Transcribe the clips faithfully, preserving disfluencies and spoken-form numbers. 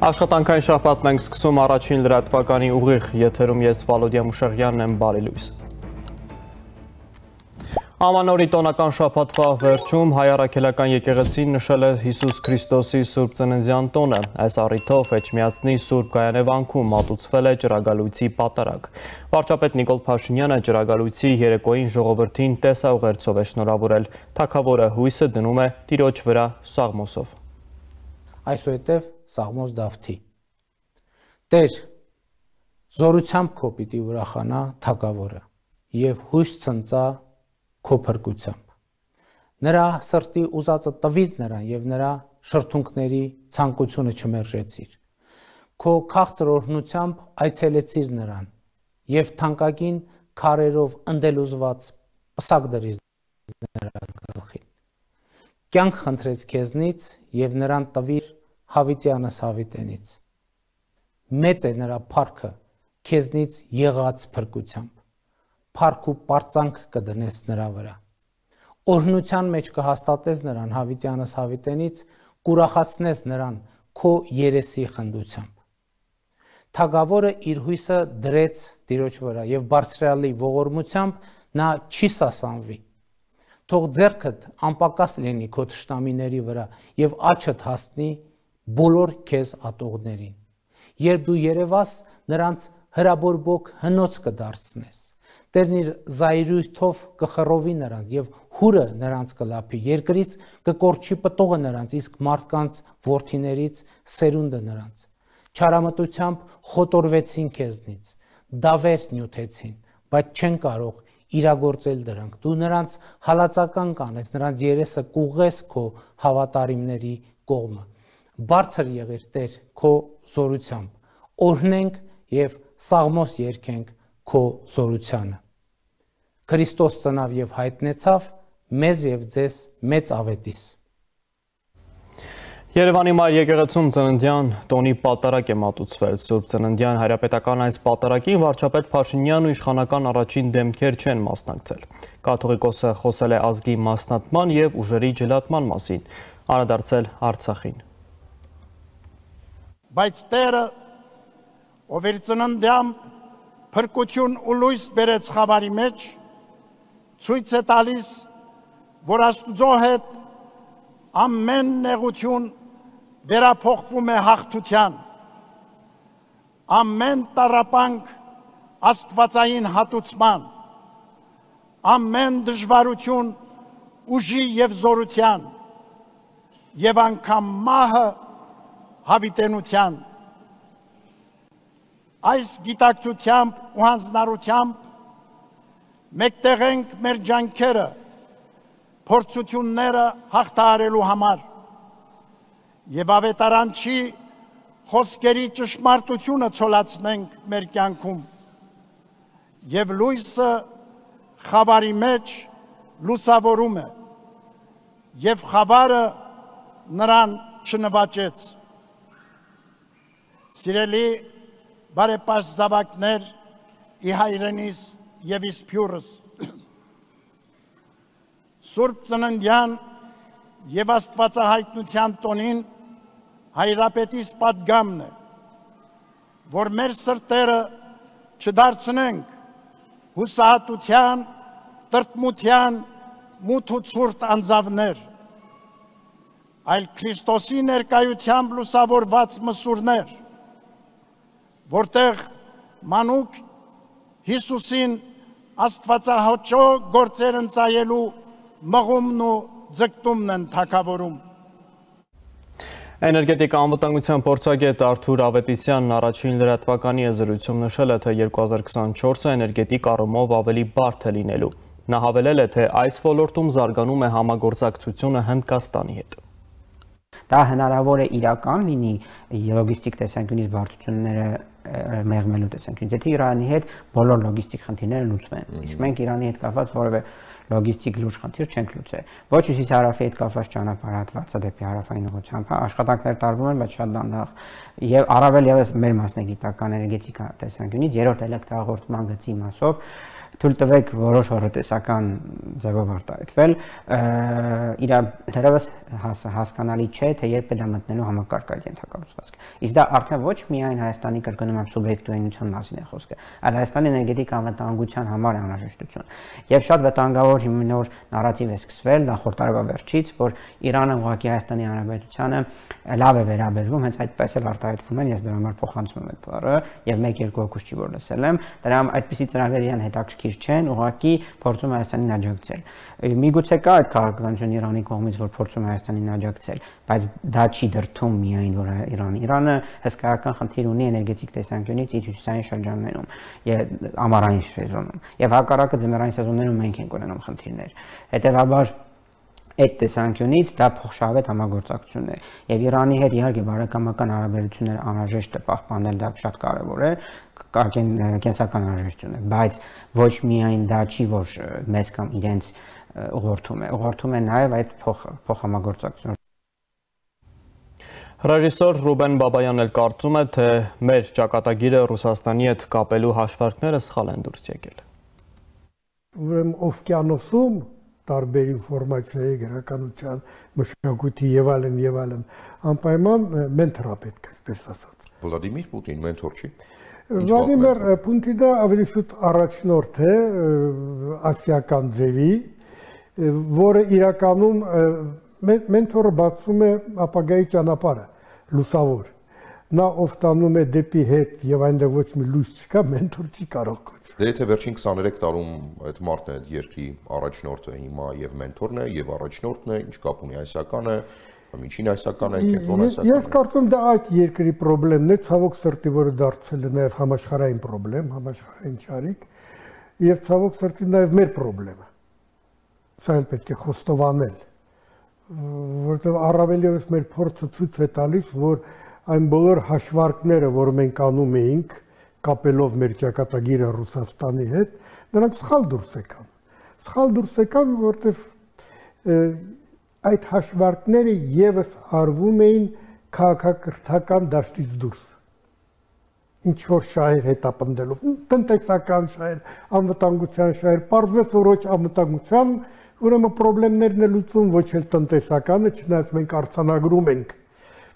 Աշխատանքային շաբաթն ենք սկսում առաջին լրատվականի ուղիղ եթերում ես Վալոդիա Մուշեղյանն եմ, բարի լույս։ Ամանորի տոնական շաբաթվա վերջում հայ առաքելական եկեղեցին նշել է Հիսուս Քրիստոսի Սուրբ Ծննդյան տոնը։ Այս առիթով Էջմիածնի Սուրբ Գայանե վանքում մատուցվել է ջրագալույցի պատարագ։ Վարչապետ Նիկոլ Փաշինյանը ջրագալույցի երեկոյին ժողովրդին տեսաուղերձով է շնորհավորել։ Թագավորը հույսը դնում է Տիրոջ վրա Սաղմոսով։ Այսուհետև Սաղմոս Դավթի։ Տեր, զորությամբ քո պիտի ուրախանա թագավորը եւ հույս ցնծա քո փրկությամբ։ Նրա սրտի ուզածը տվիր նրան եւ նրա շրթունքների ցանկությունը չմերժեցիր։ Քո քաղցր օրհնությամբ այցելեցիր նրան եւ թանկագին քարերով ընդելուզված պսակ դրիր նրա գլխին։ Կյանք խնդրեց քեզնից եւ նրան տվիր Հավիտյանս Հավիտենից։ Մեծ է նրա փառքը քեզնից եղած փրկությամբ։ Փառք ու պարծանք կդնես նրա վրա։ Օրհնության մեջ կհաստատես նրան Հավիտյանս Հավիտենից, կուրախացնես նրան քո երեսի խնդությամբ։ Թագավորը իր հույսը դրեց Տիրոջ վրա եւ բարձրալի ողորմությամբ նա չի սասանվի։ Թող ձեռքդ անպակաս լինի քո թշնամիների վրա եւ աչքդ հասնի բոլոր քեզ ատողներին։ Երբ դու երևաս, նրանց հրաբորբոք հնոց կդարձնես։ Տերն իր զայրույթով կխռովի նրանց եւ հուրը նրանց կլափի, երկրից կկորչի պտուղը նրանց, իսկ մարդկանց որդիներից սերունդը նրանց։ Չարամտությամբ խոտորվեցին քեզնից, դավեր նյութեցին, բայց չեն կարող իրագործել դրանք։ Դու նրանց հալածական կանես, նրանց երեսը կուղես քո հավատարիմների կողմը։ Բարձր եղիր Տեր քո զորությամբ, օրհնենք եւ Սաղմոս երգենք քո զորությանը։ Քրիստոս ծնավ եւ հայտնեցավ մեզ եւ ձեզ մեծ ավետիս։ Երևանի Մայր եկեղեցում ծննդյան տոնի պատարագ է մատուցվել։ Սուրբ Ծննդյան հայրապետական այս պատարագին վարչապետ Փաշինյանն ու իշխանական առաջին դեմքեր չեն մասնակցել։ Կաթողիկոսը խոսել է ազգի մասնատման եւ ուժերի ջլատման մասին, անդրադարձել Արցախին։ Բայց Տերը, ով իր ծննդյամբ փրկություն ու լույս բերեց խավարի մեջ, ցույց է տալիս, որ Աստուծո հետ ամեն նեղություն վերափոխվում է հաղթության, ամեն տառապանք աստվածային հատուցման, ամեն դժվարություն ուժի եւ զորության, եւ անգամ մահը հավիտենության։ Այս գիտակցությամբ ու հանձնարարությամբ մեկտեղ ենք մեր ջանքերը փորձությունները հաղթահարելու համար եւ ավետարանչի խոսքերի ճշմարտությունը ցոլացնենք մեր կյանքում եւ լույսը խավարի մեջ լուսավորում է եւ խավարը նրան չնվաճեց։ Սիրելի բարեպաշտ զավակներ, ի հայրենիս եւ իսփյուրս, Սուրբ Ծննդյան եւ Աստվածահայտնության տոնին հայրապետիս պատգամն է, որ մեր սրտերը չդարձնենք հուսահատության, տրտմության, մութ ու ցուրտ անձավներ, այլ Քրիստոսի ներկայությամբ լուսավորված մսուրներ, որտեղ մանուկ Հիսուսին Աստվածահաճո գործեր ընծայելու մղումն ու ձգտումն են թագավորում։ Էներգետիկա անվտանգության փորձագետ Արթուր Ավետիսյանն առաջին լրատվականի զրույցում նշել է, թե երկու հազար քսանչորսը էներգետիկ առումով ավելի բարդ է լինելու։ Նա հավելել է, թե այս ոլորտում զարգանում է համագործակցությունը Հնդկաստանի հետ։ Դա հնարավոր է իրական լինի լոգիստիկ տեսանկյունից բարդությունները մեղմելու տեսանկյունից, եթե Իրանի հետ բոլոր լոգիստիկ խնդիրները լուծվեն, իսկ մենք Իրանի հետ կապված որևէ լոգիստիկ լուրջ խնդիր չենք լուծել։ Ոչ հյուսիս հարավի հետ կապված ճանապարհատվածը դեպի հարավային ուղղությամբ, աշխատանքներ տարվում են, բայց շատ դանդաղ, եւ առավել եւս մեր մասնագիտական էներգետիկա տեսանկյունից երրորդ էլեկտրահաղորդման գծի մասով թույլ տվեք որոշ հորոտեսական ձևով արտահայտվել, իր դերևս հասկանալի չէ, թե երբ է դա մտնելու համակարգային ենթակառուցվածք։ Իսկ դա արդեն ոչ միայն Հայաստանի կրկնում եմ սուբյեկտիվայնության մասին է խոսքը, այլ Հայաստանի էներգետիկ անվտանգության համար անհրաժեշտություն։ Եվ շատ վտանգավոր հիմնավոր նարատիվ է սկսվել նախորդ տարվա վերջից, որ Իրանը ուղղակի Հայաստանի Հանրապետությանը լավ է վերաբերվում, հենց այդպես էլ արտահայտվում են, ես դրա համար փոխանցում եմ այդ բառը, եւ մեկ-երկու հոգուց չի որ լսել եմ, դրա այդպիսի ծրագրեր իրան հետաքրքիր չեն, ուղղակի փորձում է Հայաստանին աջակցել։ Միգուցե կա այդ քաղաքականություն Իրանի կողմից, որ փորձում է Հայաստանին աջակցել, բայց դա չի դրդում միայն որ Իրանը։ Իրանը հսկայական խնդիր ունի էներգետիկ տեսանկյունից իր հյուսիսային շրջաններում եւ ամառային սեզոնում։ Եվ հակառակը ձմեռային սեզոններում մենք ենք ունենում խնդիրներ։ Հետեւաբար այդ տեսանկյունից դա փոխշահավետ համագործակցություն է եւ Իրանի հետ իհարկե բարեկամական հարաբերությունները անհրաժեշտ է պահպանել, դա շատ կարեւոր է, կենսական անհրաժեշտություն է, բայց ոչ միայն դա չի, որ մեծ կամ իրենց ուղղորդում է, ուղղորդում է նաեւ այդ փոխհամագործակցությունը։ Ռեժիսոր Ռուբեն Բաբայանն էլ կարծում է, թե մեր ճակատագիրը Ռուսաստանի հետ կապելու հաշվարկները սխալ են դուրս եկել։ Ուրեմն օվկիանոսում տարբեր ինֆորմացիայի, գրականության, մշակույթի եւ այլն եւ այլն անպայման մենթորա պետք է, այսպես ասած։ Վլադիմիր Պուտին մենթոր չի։ Վլադիմիր Պուտինը ավելի շուտ առաջնորդ է ասիական ձևի, որը իրականում մենթորը բացում է ապագայի ճանապարհը, լուսավոր։ Նա ով տանում է դեպի հետ եւ այնտեղ ոչ մի լույս չկա, մենթոր չի կարող կոչվել։ Դե եթե վերջին քսաներեք տարում այդ մարդն է երկրի առաջնորդը, հիմա եւ մենթորն է, եւ առաջնորդն է, ինչ կապ ունի այսական է, միջին այսական է, կենտրոն այսական է։ Ես կարծում եմ դա այդ երկրի խնդիրն է, ցավոք սրտի, որը դարձել է նաեւ համաշխարհային խնդրեմ, համաշխարհային ճարիք, եւ ցավոք սրտի նաեւ մեր խնդիրը։ Սա էլ պետք է խոստովանել, որովհետեւ առավել եւս մեր փորձը ցույց է տալիս, որ այն բոլոր հաշվարկները, որ մենք անում էինք, կապելով մեր ճակատագիրը Ռուսաստանի հետ, նրանք սխալ դուրս եկան։ Սխալ դուրս եկան, որտեղ այդ հաշվարկները եւս արվում էին քաղաքակրթական դաշտից դուրս։ Ինչ որ շահեր հետապնդելով, տնտեսական շահեր, անվտանգության շահեր, պարզվեց, որ ոչ անվտանգության, ուրեմն խնդիրներն է լուծում, ոչ էլ տնտեսականը, չնայած մենք արձանագրում ենք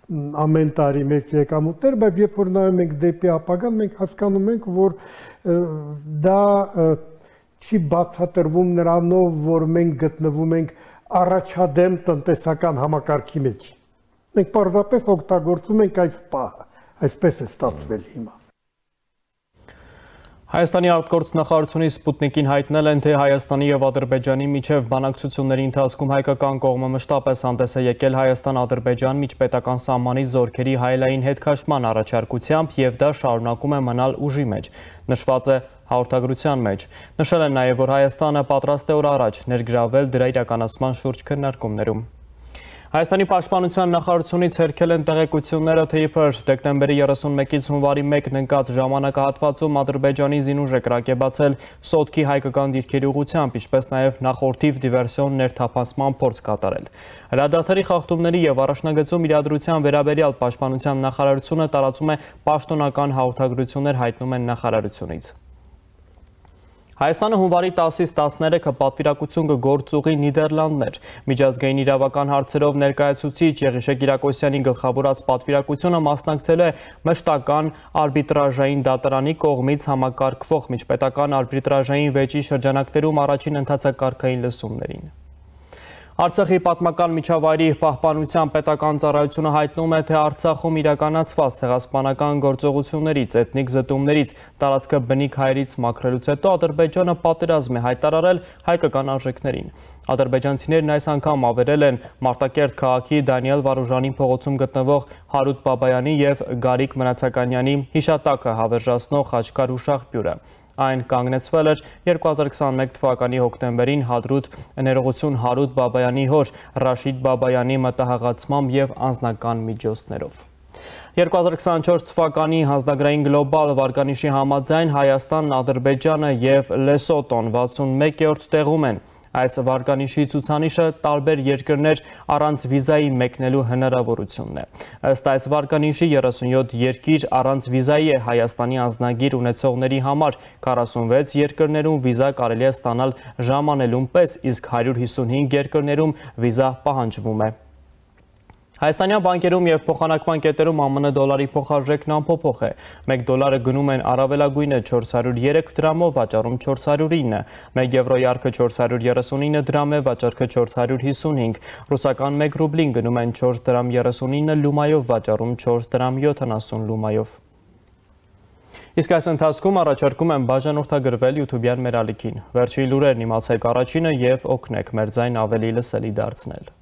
ամեն տարի մեծ եկամուտներ, բայց երբ որ նայում ենք դեպի ապագան, մենք հասկանում ենք, որ դա չի բացատրվում նրանով, որ մենք գտնվում ենք առաջադեմ տնտեսական համակարգի մեջ։ Մենք պարզապես օգտագործում ենք այս պահը, այսպես է ստացվել հիմա։ Հայաստանի արտգործնախարարությունի Սպուտնիկին հայտնել են, թե Հայաստանի եւ Ադրբեջանի միջև բանակցությունների ընթացքում հայկական կողմը մշտապես հանդես է եկել Հայաստան-Ադրբեջան միջպետական սահմանի զորքերի հայելային հետքաշման առաջարկությամբ եւ դա շարունակում է մնալ ուժի մեջ, նշված է հաղորդագրության մեջ։ Նշել են նաեւ, որ Հայաստանը պատրաստ է օր առաջ ներգրավել դրա իրականացման շուրջ քննարկումներում։ Հայաստանի պաշտպանության նախարարությունից հերքել են տեղեկությունները, թե իբր դեկտեմբերի երեսունմեկից հունվարի մեկն ընկած ժամանակահատվածում Ադրբեջանի զինուժ է կրակեբացել Սոտքի հայկական դիրքերի ուղղությամբ, ինչպես նաև նախորդիվ դիվերսիոն ներթափանցման փորձ կատարել։ Հրադադարի խախտումների եւ առաջնագծում իրադրության վերաբերյալ պաշտպանության նախարարությունը տարածում է պաշտոնական հաղորդագրություններ, հայտնում են նախարարությունից։ Հայաստանը հունվարի տասից տասներեքը պատվիրակություն կգործուղի Նիդերլանդներ։ Միջազգային իրավական հարցերով ներկայացուցիչ Եղիշե Կիրակոսյանի գլխավորած պատվիրակությունը մասնակցել է մշտական արբիտրաժային դատարանի կողմից համակարգվող միջպետական արբիտրաժային վեճի շրջանակներում առաջին ընթացակարգային լսումներին։ Արցախի պատմական միջավայրի պահպանության պետական ծառայությունը հայտնում է, թե Արցախում իրականացված ցեղասպանական գործողություններից, էթնիկ զտումներից, տարածքը բնիկ հայերից մաքրելուց հետո Ադրբեջանը պատերազմ է հայտարարել հայկական արժեքներին։ Ադրբեջանցիներն այս անգամ ավերել են Մարտակերտ քաղաքի Դանիել Վարուժանի փողոցում գտնվող Հարութ Բաբայանի եւ Գարիկ Մնացականյանի հիշատակը հավերժացնող խաչքար ու շաղբյուրը։ Այն կանգնեցվել էր երկու հազար քսաներեք թվականի հոկտեմբերին հադրուտ ներողություն Հարութ Բաբայանի հոր Ռաշիդ Բաբայանի մտահղացմամբ եւ անձնական միջոցներով։ երկու հազար քսանչորս թվականի հանձնագրային գլոբալ վարկանիշի համաձայն Հայաստանն, Ադրբեջանը եւ Լեսոտոն վաթսունմեկերորդ տեղում են։ Այս վարկանիշի ցուցանիշը տարբեր երկրներ առանց վիզայի մեկնելու հնարավորությունն է։ Ըստ այս վարկանիշի երեսունյոթ երկիր առանց վիզայի է Հայաստանի անձնագիր ունեցողների համար, քառասունվեց երկրներում վիզա կարելի է ստանալ ժամանելուն պես, իսկ հարյուր հիսունհինգ երկրներում վիզա պահանջվում է։ Հայաստանյան բանկերում և փոխանակման կետերում ԱՄՆ դոլարի փոխարժեքն անփոփոխ է։ մեկ դոլարը գնում են առավելագույնը չորս հարյուր երեք դրամով, վաճառում չորս հարյուր ինը, մեկ եվրոյի արքը չորս հարյուր երեսունինը դրամ է, վաճառքը չորս հարյուր հիսունհինգ, ռուսական մեկ ռուբլին գնում են չորս դրամ երեսունինը լումայով, վաճառում չորս դրամ յոթանասուն լումայով։ Իսկ այս ընթացքում առաջարկում եմ բաժանորդագրվել YouTube-յան մեր ալիքին։ Վերջին լուրերն իմացեք առաջինը և օգնեք մեր ձայն ավելի լսելի դարձնել։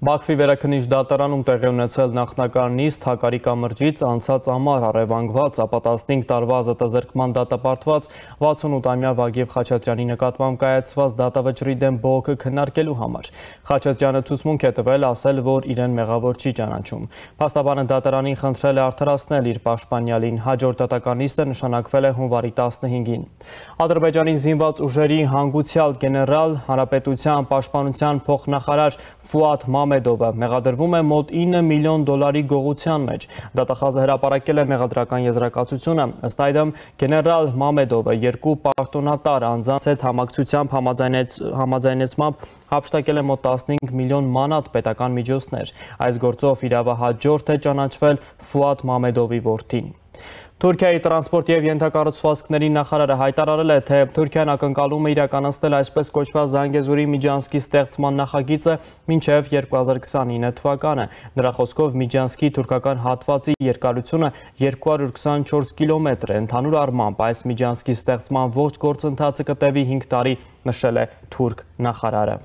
Բաքվի վերաքննիչ դատարանում տեղի ունեցել նախնական նիստ Հակարի կամրջից անցած ամառ առևանգված, ապա տասնհինգ տարվա ազատազրկման դատապարտված վաթսունութամյա Վագիվ Խաչատրյանի նկատմամբ կայացված դատավճռի դեմ բողոքը քննարկելու համար։ Խաչատրյանը ցուցմունք է տվել, ասել, որ իրեն մեղավոր չի ճանաչում։ Փաստաբանը դատարանին խնդրել է արդարացնել իր պաշտպանյալին։ Հաջորդ դատական նիստը նշանակվել է հունվարի տասնհինգին։ Ադրբեջանի զինված ուժերի հանգուցյալ գեներալ, Հանրապետության պաշտպանության փոխնախարար Ֆուադ Մամեդովը մեղադրվում է մոտ ինը միլիոն դոլարի գողության մեջ։ Դատախազը հրապարակել է մեղադրական եզրակացությունը։ Ըստ այդմ գեներալ Մամեդովը երկու պաշտոնատար անձանց հետ համակցությամբ համաձայնեցմամբ հափշտակել է մոտ տասնհինգ միլիոն մանատ պետական միջոցներ։ Այս գործով իրավահաջորդ է ճանաչվել Ֆուադ Մամեդովի որդին։ Թուրքիայի տրանսպորտ և ենթակառուցվածքների նախարարը հայտարարել է, թե Թուրքիան ակնկալում է իրականացնել այսպես կոչված Զանգեզուրի միջանցքի ստեղծման նախագիծը մինչև երկու հազար քսանինը թվականը։ Նրա խոսքով միջանցքի թուրքական հատվածի երկարությունը երկու հարյուր քսանչորս կիլոմետր է։ Ընդհանուր առմամբ այս միջանցքի ստեղծման ողջ գործընթացը կտևի հինգ տարի, նշել է թուրք նախարարը։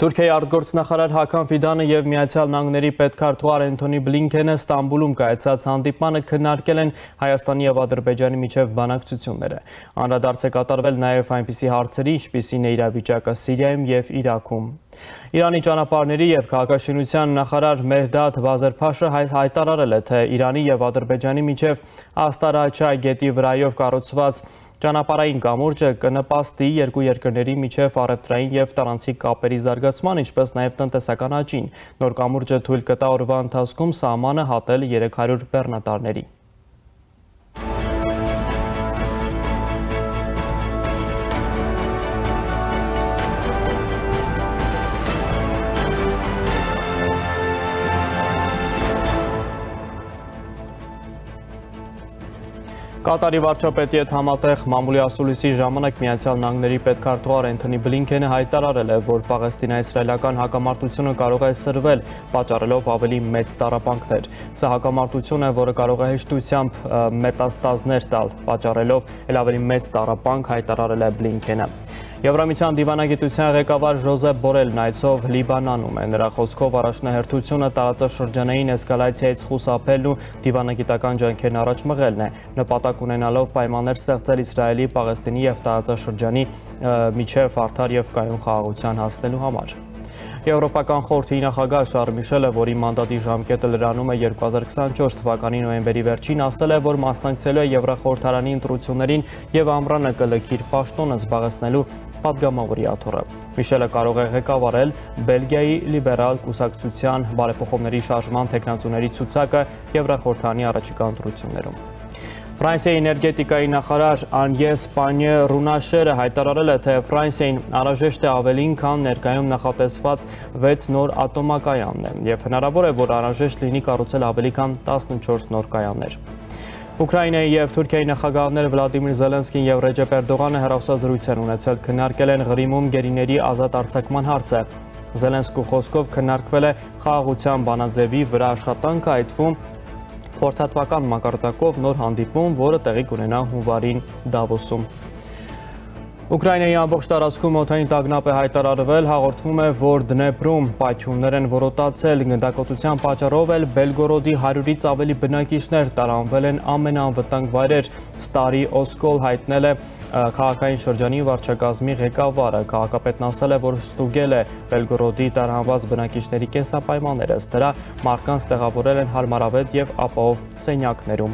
Թուրքիայի արտգործնախարար Հական Ֆիդանը և Միացյալ Նահանգների պետքարտուղար Էնթոնի Բլինքենը Ստամբուլում կայացած հանդիպմանը քննարկել են Հայաստանի և Ադրբեջանի միջև բանակցությունները։ Անդրադարձ է կատարվել նաև այնպիսի հարցերի, ինչպիսին է իրավիճակը Սիրիայում և Իրաքում։ Իրանի ճանապարհների և քաղաքաշինության նախարար Մեհդադ Բազարփաշը հայտարարել է, թե Իրանի և Ադրբեջանի միջև Աստարաչա գետի վրայով կառուցված ճանապարհային կամուրջը կնպաստի երկու երկրների միջև առևտրային և տարանցիկ կապերի զարգացման, ինչպես նաև տնտեսական աճին։ Նոր կամուրջը թույլ կտա օրվա ընթացքում սահմանը հատել երեք հարյուր բեռնատարների։ Կատարի վարչապետի հետ համատեղ մամուլի ասուլիսի ժամանակ Միացյալ Նահանգների պետքարտուղար Էնթոնի Բլինքենը հայտարարել է, որ Պաղեստինա-իսրայելական հակամարտությունը կարող է սրվել, պատճառելով ավելի մեծ տառապանքներ։ Սա հակամարտություն է, որը կարող է հեշտությամբ մետաստազներ տալ, պատճառելով էլ ավելի մեծ տառապանք, հայտարարել է Բլինքենը։ Եվրամիության դիվանագիտության ղեկավար Ժոզեփ Բորելն այցով Լիբանանում է։ Նրա խոսքով առաջնահերթությունը տարածաշրջանային էսկալացիայից խուսափելն ու դիվանագիտական ջանքերն առաջ մղելն է, նպատակ ունենալով պայմաններ ստեղծել Իսրայելի, Պաղեստինի և տարածաշրջանի միջև արդար և կայուն խաղաղության հասնելու համար։ Եվրոպական խորհրդի նախագահ Շարլ Միշելը, որի մանդատի ժամկետը լրանում է երկու հազար քսանչորս թվականի նոյեմբերի վերջին, ասել է, որ մասնակցելու է Եվրախորհրդարանի ընտրություններին և ամռանը կլքի իր պաշտոնը զբաղեցնելու պատգամավորի աթոռը։ Միշելը կարող է ղեկավարել Բելգիայի լիբերալ կուսակցության բարեփոխումների շարժման թեկնածուների ցուցակը Եվրախորհրդարանի առաջիկա ընտրություններում։ Ֆրանսիայի էներգետիկայի նախարար Անյես Պանյե Ռունաշերը հայտարարել է, թե Ֆրանսիային անհրաժեշտ է ավելին, քան ներկայում նախատեսված վեց նոր ատոմակայանն է, և հնարավոր է, որ անհրաժեշտ լինի կառուցել ավելի քան տասնչորս նոր կայաններ։ Ուկրաինայի և Թուրքիայի նախագահներ Վլադիմիր Զելենսկին և Ռեջեփ Էրդողանը հեռախոսազրույց են ունեցել, քննարկել են Ղրիմում գերիների ազատ արձակման հարցը։ Զելենսկու խոսքով քննարկվել է խաղաղության բանաձևի վրա աշխատանքը, այդ թվում խորհրդատվական մակարդակով նոր հանդիպում, որը տեղի կունենա հունվարին Դավոսում։ Ուկրաինայի ամբողջ տարածքում օդային տագնապ է հայտարարվել, հաղորդվում է, որ Դնեպրում պայթյուններ են որոտացել, գնդակոծության պատճառով էլ Բելգորոդի հարյուրից ավելի բնակիչներ տարանվել են ամենաանվտանգ վայրեր, Ստարի Օսկոլ հայտնել է քաղաքային շրջանի վարչակազմի ղեկավարը, քաղաքապետն ասել է, որ ստուգել է Բելգորոդի տարանված բնակիչների կենսապայմանները, ըստ դրա մարդկանց տեղավորել են հարմարավետ և ապահով սենյակներում։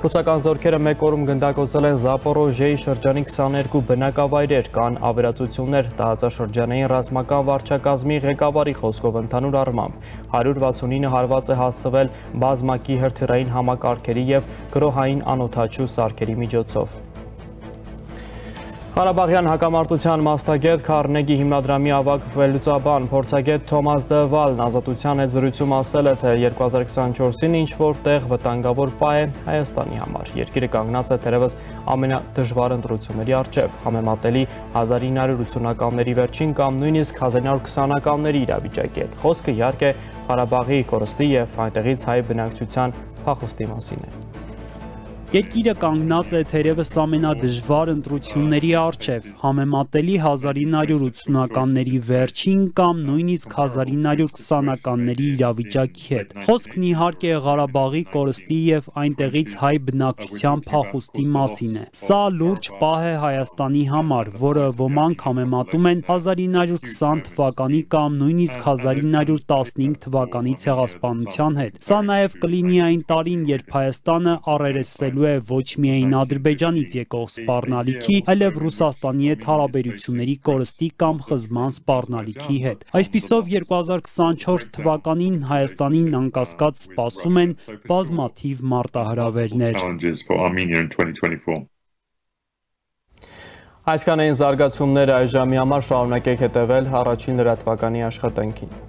Ռուսական զորքերը մեկ օրում գնդակոծել են Զապորոժիեի շրջանի քսաներկու բնակավայրեր, կան ավերածություններ, տարածաշրջանային ռազմական վարչակազմի ղեկավարի խոսքով ընդհանուր առմամբ հարյուր վաթսունինը հարված է հասցվել բազմակի հրթիռային համակարգերի և գրոհային անօդաչու սարքերի միջոցով։ Ղարաբաղյան հակամարտության մասնագետ Քարնեգի հիմնադրամի ավագ վերլուծաբան փորձագետ Թոմաս Դվալն ազատության հետ զրույցում ասել է, թե երկու հազար քսանչորսին ինչ-որ տեղ վտանգավոր պահ է Հայաստանի համար։ Երկիրը կանգնած է թերևս ամենադժվար ընտրությունների առջև, համեմատելի հազար ինը հարյուր ութսունականների վերջին կամ նույնիսկ հազար ինը հարյուր քսանականների իրավիճակի հետ։ Խոսքը իհարկե Ղարաբաղի կորստի և այնտեղից հայ բնակչության փախուստի մասին է։ Երկիրը կանգնած է թերևս ամենադժվար ընտրությունների առջև, համեմատելի հազար ինը հարյուր ութսունականների վերջին կամ նույնիսկ հազար ինը հարյուր քսանականների իրավիճակի հետ։ Խոսքն իհարկե Ղարաբաղի կորստի և այնտեղից հայ բնակչության փախուստի մասին է։ Սա լուրջ պահ է Հայաստանի համար, որը ոմանք համեմատում են հազար ինը հարյուր քսան թվականի կամ նույնիսկ հազար ինը հարյուր տասնհինգ թվականի ցեղասպանության հետ։ Սա նաև կլինի այն տարին, երբ Հայաստանը առերեսվելու է ոչ միայն Ադրբեջանից եկող սպառնալիքի, այլև Ռուսաստանի հետ հարաբերությունների կորստի կամ խզման սպառնալիքի հետ։ Այսպիսով երկու հազար քսանչորս թվականին Հայաստանին անկասկած սպասում են բազմաթիվ մարտահրավերներ։ Այսքան էին զարգացումները այժմի համար, շարունակեք հետևել առաջին լրատվականի աշխատանքին։